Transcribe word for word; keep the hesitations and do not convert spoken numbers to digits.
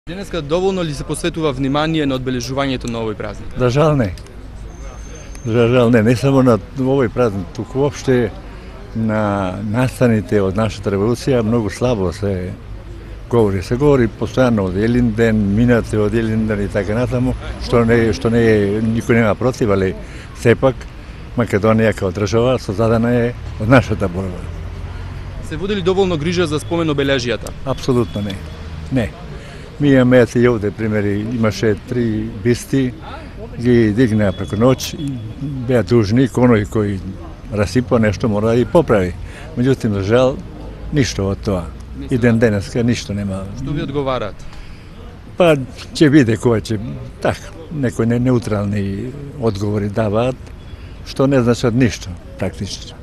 Денеска доволно ли се посветува внимание на одбележувањето на овој празник? За жал не. За жал не, не само на овој празник, туку воопште на настаните од нашата револуција многу слабо се говори. Се говори постојано од Елинден, минате од Елинден и така натаму, што не што не е никој нема против, али сепак Македонија како држава создадена е од нашата борба. Се води ли доволно грижа за спомен обележијата? Апсолутно не. Не. Ми имаме и овде примери, имаше три бисти, ги дигнаа преку ноќ и беа дужни, оној кој расипа нешто мора да и поправи. Меѓутоа, за жал, ништо од тоа. И ден денеска ништо нема. Што ви одговараат? Па ќе биде кој ќе така, некои неутрални одговори даваат, што не значат ништо практично.